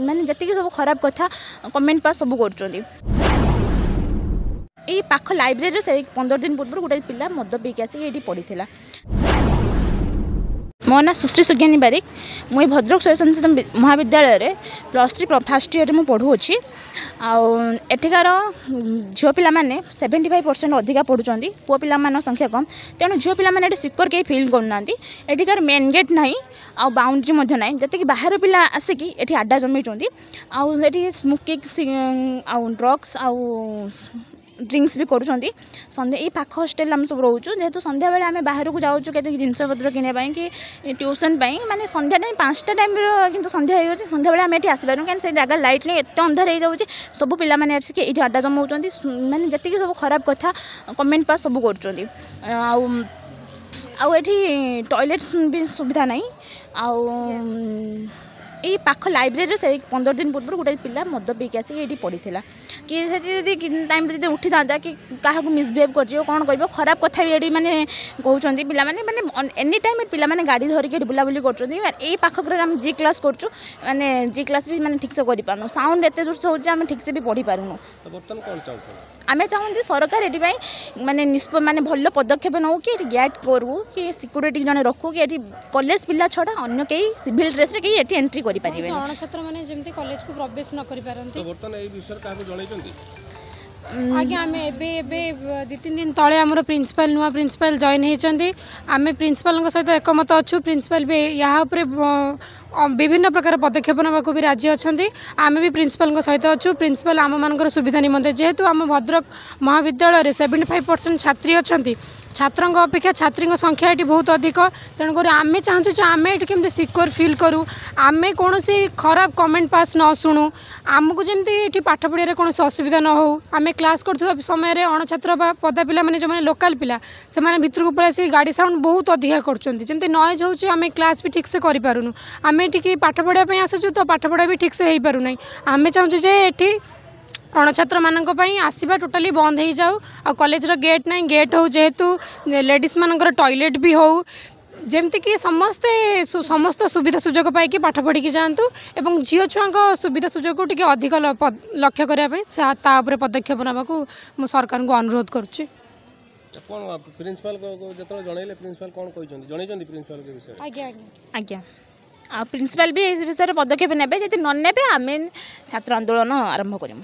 ମାନେ ଯେତିକି ସବୁ ଖରାପ କଥା କମେଣ୍ଟ ପାସ୍ ସବୁ କରୁଛନ୍ତି। ଏଇ ପାଖ ଲାଇବ୍ରେରୀରେ ସେଇ 15 ଦିନ ପୂର୍ବରୁ ଗୋଟେ ପିଲା ମଦ ପିଇକି ଆସିକି ଏଇଠି ପଡ଼ିଥିଲା। ମୋ ନାଁ ସୁଶ୍ରୀ ସୁଜ୍ଞାନୀ ବାରିକ। ମୁଁ ଏଇ ଭଦ୍ରକ ସ୍ୱୟଂଶାସିତ ମହାବିଦ୍ୟାଳୟରେ +3 ଫାର୍ଷ୍ଟ ଇୟର୍ରେ ମୁଁ ପଢ଼ୁଅଛି। ଆଉ ଏଠିକାର ଝିଅ ପିଲାମାନେ 75% ଅଧିକା ପଢ଼ୁଛନ୍ତି, ପୁଅ ପିଲାମାନଙ୍କ ସଂଖ୍ୟା କମ୍। ତେଣୁ ଝିଅ ପିଲାମାନେ ଏଠି ସିକ୍ୟୋର କେହି ଫିଲ୍ କରୁନାହାନ୍ତି। ଏଠିକାର ମେନ୍ ଗେଟ୍ ନାହିଁ ଆଉ ବାଉଣ୍ଡ୍ରି ମଧ୍ୟ ନାହିଁ। ଯେତିକି ବାହାର ପିଲା ଆସିକି ଏଠି ଆଡ୍ଡା ଜମେଇଛନ୍ତି, ଆଉ ଏଠି ସ୍ମୋକିଂ ଆଉ ଡ୍ରଗ୍ସ ଆଉ ଡ୍ରିଙ୍କସ୍ ବି କରୁଛନ୍ତି। ସନ୍ଧ୍ୟା ଏଇ ପାଖ ହଷ୍ଟେଲରେ ଆମେ ସବୁ ରହୁଛୁ। ଯେହେତୁ ସନ୍ଧ୍ୟାବେଳେ ଆମେ ବାହାରକୁ ଯାଉଛୁ କେତେ ଜିନିଷପତ୍ର କିଣିବା ପାଇଁ କି ଟ୍ୟୁସନ୍ ପାଇଁ, ମାନେ ସନ୍ଧ୍ୟା ଟାଇମ୍ 5ଟା ଟାଇମ୍ର କିନ୍ତୁ ସନ୍ଧ୍ୟା ହେଇଯାଉଛି, ସନ୍ଧ୍ୟାବେଳେ ଆମେ ଏଠି ଆସିପାରୁନୁ, କାହିଁକି ସେ ଜାଗା ଲାଇଟ୍ ନାହିଁ, ଏତେ ଅନ୍ଧାର ହେଇଯାଉଛି। ସବୁ ପିଲାମାନେ ଆସିକି ଏଇଠି ଆଡ୍ଡା ଜମାଉଛନ୍ତି, ମାନେ ଯେତିକି ସବୁ ଖରାପ କଥା କମେଣ୍ଟ ପାସ୍ ସବୁ କରୁଛନ୍ତି। ଆଉ ଏଠି ଟଏଲେଟ୍ ବି ସୁବିଧା ନାହିଁ। ଆଉ ଏଇ ପାଖ ଲାଇବ୍ରେରୀରେ ସେଇ 15 ଦିନ ପୂର୍ବରୁ ଗୋଟେ ପିଲା ମଦ ପିଇକି ଆସିକି ଏଇଠି ପଡ଼ିଥିଲା। କି ସେଠି ଯଦି ଟାଇମ୍ରେ ଯଦି ଉଠିଥାନ୍ତା କି କାହାକୁ ମିସବିହେଭ୍ କରିଯିବ, କ'ଣ କରିବ, ଖରାପ କଥା ବି ଏଠି ମାନେ କହୁଛନ୍ତି ପିଲାମାନେ। ମାନେ ଏନି ଟାଇମ୍ ପିଲାମାନେ ଗାଡ଼ି ଧରିକି ଏଠି ବୁଲାବୁଲି କରୁଛନ୍ତି। ଏଇ ପାଖ ଘରେ ଆମେ ଜି କ୍ଲାସ୍ କରୁଛୁ, ମାନେ ଜି କ୍ଲାସ୍ ବି ମାନେ ଠିକ୍ସେ କରିପାରୁନୁ। ସାଉଣ୍ଡ ଏତେ ଜୋରସେ ହେଉଛି, ଆମେ ଠିକ୍ସେ ବି ପଢ଼ିପାରୁନୁ। ବର୍ତ୍ତମାନ କ'ଣ ଚାହୁଁଛନ୍ତି? ଆମେ ଚାହୁଁଛୁ ସରକାର ଏଠି ପାଇଁ ମାନେ ମାନେ ଭଲ ପଦକ୍ଷେପ ନେଉ କି ଏଠି ଗେଟ୍ କରୁ କି ସିକ୍ୟୁରିଟି ଜଣେ ରଖୁ କି ଏଠି କଲେଜ ପିଲା ଛଡ଼ା ଅନ୍ୟ କେହି ସିଭିଲ୍ ଡ୍ରେସ୍ରେ କେହି ଏଠି ଏଣ୍ଟ୍ରି କରିପାରିବେନି। ଅଣଛାତ୍ରମାନେ ଯେମିତି କଲେଜକୁ ପ୍ରବେଶ ନ କରିପାରନ୍ତି। ବର୍ତ୍ତମାନ ଏଇ ବିଷୟରେ କାହାକୁ ଜଣାଇଛନ୍ତି? ଆଜ୍ଞା, ଆମେ ଏବେ ଏବେ 2-3 ଦିନ ତଳେ ଆମର ପ୍ରିନ୍ସିପାଲ, ନୂଆ ପ୍ରିନ୍ସିପାଲ ଜଏନ୍ ହେଇଛନ୍ତି। ଆମେ ପ୍ରିନ୍ସିପାଲଙ୍କ ସହିତ ଏକମତ ଅଛୁ। ପ୍ରିନ୍ସିପାଲ ବି ଏହା ଉପରେ ବିଭିନ୍ନ ପ୍ରକାର ପଦକ୍ଷେପ ନେବାକୁ ବି ରାଜି ଅଛନ୍ତି। ଆମେ ବି ପ୍ରିନ୍ସିପାଲଙ୍କ ସହିତ ଅଛୁ। ପ୍ରିନ୍ସିପାଲ ଆମମାନଙ୍କର ସୁବିଧା ନିମନ୍ତେ, ଯେହେତୁ ଆମ ଭଦ୍ରକ ମହାବିଦ୍ୟାଳୟରେ 75% ଛାତ୍ରୀ ଅଛନ୍ତି, ଛାତ୍ରଙ୍କ ଅପେକ୍ଷା ଛାତ୍ରୀଙ୍କ ସଂଖ୍ୟା ଏଠି ବହୁତ ଅଧିକ। ତେଣୁକରି ଆମେ ଚାହୁଁଛୁ ଯେ ଆମେ ଏଠି କେମିତି ସିକ୍ୟୋର ଫିଲ୍ କରୁ, ଆମେ କୌଣସି ଖରାପ କମେଣ୍ଟ ପାସ୍ ନ ଶୁଣୁ, ଆମକୁ ଯେମିତି ଏଠି ପାଠ ପଢ଼ିବାରେ କୌଣସି ଅସୁବିଧା ନ ହେଉ। ଆମେ କ୍ଲାସ୍ କରୁଥିବା ସମୟରେ ଅଣଛାତ୍ର ବା ପଦା ପିଲାମାନେ, ଯେଉଁମାନେ ଲୋକାଲ୍ ପିଲା, ସେମାନେ ଭିତରକୁ ପଳେଇ ଆସିକି ଗାଡ଼ି ସାଉଣ୍ଡ ବହୁତ ଅଧିକା କରୁଛନ୍ତି। ଯେମିତି ନଏଜ୍ ହେଉଛି, ଆମେ କ୍ଲାସ୍ ବି ଠିକ୍ସେ କରିପାରୁନୁ। ଆମେ ଏଠିକି ପାଠ ପଢ଼ିବା ପାଇଁ ଆସୁଛୁ, ତ ପାଠପଢ଼ା ବି ଠିକ୍ସେ ହେଇପାରୁନାହିଁ। ଆମେ ଚାହୁଁଛୁ ଯେ ଏଠି ଅଣଛାତ୍ରମାନଙ୍କ ପାଇଁ ଆସିବା ଟୋଟାଲି ବନ୍ଦ ହେଇଯାଉ। ଆଉ କଲେଜର ଗେଟ୍ ନାହିଁ, ଗେଟ୍ ହେଉ, ଯେହେତୁ ଲେଡ଼ିଜ୍ମାନଙ୍କର ଟଏଲେଟ୍ ବି ହେଉ, ଯେମିତିକି ସମସ୍ତେ ସମସ୍ତ ସୁବିଧା ସୁଯୋଗ ପାଇକି ପାଠ ପଢ଼ିକି ଯାଆନ୍ତୁ। ଏବଂ ଝିଅ ଛୁଆଙ୍କ ସୁବିଧା ସୁଯୋଗକୁ ଟିକେ ଅଧିକ ଲକ୍ଷ୍ୟ କରିବା ପାଇଁ ତା ଉପରେ ପଦକ୍ଷେପ ନେବାକୁ ମୁଁ ସରକାରଙ୍କୁ ଅନୁରୋଧ କରୁଛି। କ'ଣ ପ୍ରିନ୍ସିପାଲ ଯେତେବେଳେ ଜଣେଇଲେ, ପ୍ରିନ୍ସିପାଲ କ'ଣ କହିଛନ୍ତି? ଜଣେଇଛନ୍ତି ପ୍ରିନ୍ସିପାଲଙ୍କ ବିଷୟରେ? ଆଜ୍ଞା ଆଜ୍ଞା ଆଜ୍ଞା, ଆଉ ପ୍ରିନ୍ସିପାଲ ବି ଏ ବିଷୟରେ ପଦକ୍ଷେପ ନେବେ। ଯଦି ନ ନେବେ, ଆମେ ଛାତ୍ର ଆନ୍ଦୋଳନ ଆରମ୍ଭ କରିବୁ।